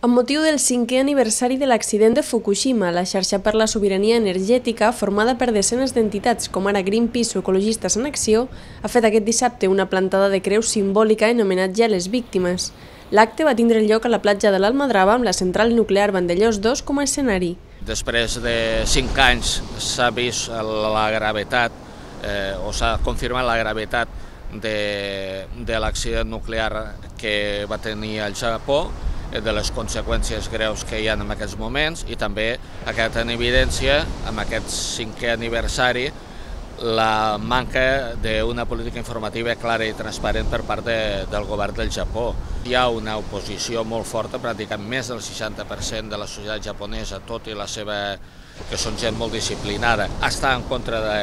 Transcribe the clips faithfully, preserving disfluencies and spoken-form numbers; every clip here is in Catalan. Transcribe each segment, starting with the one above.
Amb motiu del cinquè aniversari de l'accident de Fukushima, la xarxa per la sobirania energètica, formada per desenes d'entitats com ara Greenpeace o Ecologistes en Acció, ha fet aquest dissabte una plantada de creu simbòlica en homenatge a les víctimes. L'acte va tindre lloc a la platja de l'Almadrava amb la central nuclear Vandellós dos com a escenari. Després de cinc anys s'ha vist la gravetat, eh, o s'ha confirmat la gravetat de, de l'accident nuclear que va tenir el Japó, de les conseqüències greus que hi ha en aquests moments, i també ha quedat en evidència, amb aquest cinquè aniversari, la manca d'una política informativa clara i transparent per part de, del govern del Japó. Hi ha una oposició molt forta, pràcticament més del seixanta per cent de la societat japonesa, tot i la seva, que són gent molt disciplinada, està en contra de,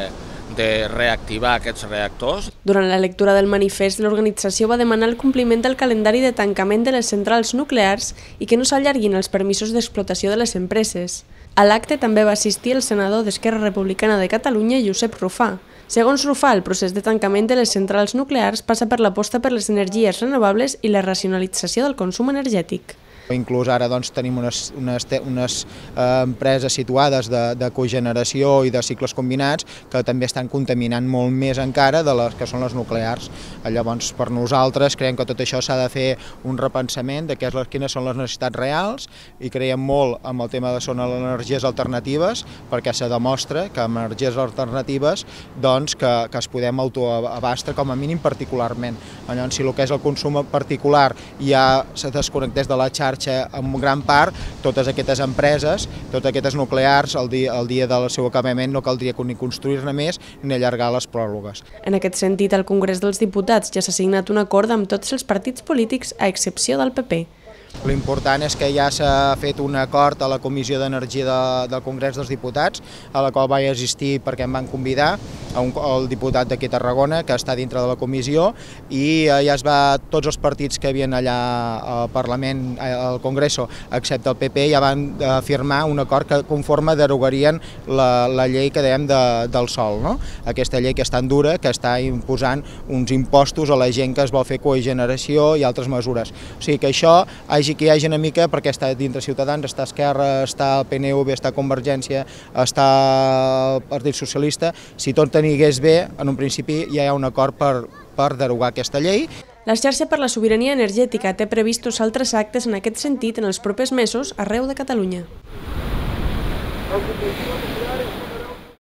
de reactivar aquests reactors. Durant la lectura del manifest, l'organització va demanar el compliment del calendari de tancament de les centrals nuclears i que no s'allarguin els permisos d'explotació de les empreses. A l'acte també va assistir el senador d'Esquerra Republicana de Catalunya, Josep Rufà. Segons Rufà, el procés de tancament de les centrals nuclears passa per l'aposta per les energies renovables i la racionalització del consum energètic. Inclús ara doncs, tenim unes, unes, unes eh, empreses situades de, de cogeneració i de cicles combinats que també estan contaminant molt més encara de les que són les nuclears. Llavors, per nosaltres, creiem que tot això s'ha de fer un repensament de què és, quines són les necessitats reals, i creiem molt amb el tema de són les energies alternatives, perquè se demostra que amb energies alternatives doncs, que, que es podem autoabastar com a mínim particularment. Llavors, si el que és el consum particular ja se desconnectés de la xarxa en gran part, totes aquestes empreses, totes aquestes nuclears, el dia, el dia del seu acabament no caldria ni construir-ne més ni allargar les pròrrogues. En aquest sentit, al Congrés dels Diputats ja s'ha signat un acord amb tots els partits polítics, a excepció del P P. L'important és que ja s'ha fet un acord a la Comissió d'Energia de, del Congrés dels Diputats, a la qual vaig assistir perquè em van convidar, a un, el diputat d'aquí a Tarragona, que està dintre de la comissió, i ja es va, tots els partits que havien allà al Parlament, al Congreso, excepte el P P, ja van firmar un acord que conforme derogarien la, la llei que dèiem de, del sòl, no? Aquesta llei que és tan dura, que està imposant uns impostos a la gent que es vol fer cogeneració i altres mesures. O sigui que això hagi que hi hagi una mica, perquè està dintre Ciutadans, està Esquerra, està el P N V, està Convergència, està el Partit Socialista. Si tot anigués bé, en un principi ja hi ha un acord per, per derogar aquesta llei. La xarxa per la sobirania energètica té previstos altres actes en aquest sentit en els propers mesos arreu de Catalunya.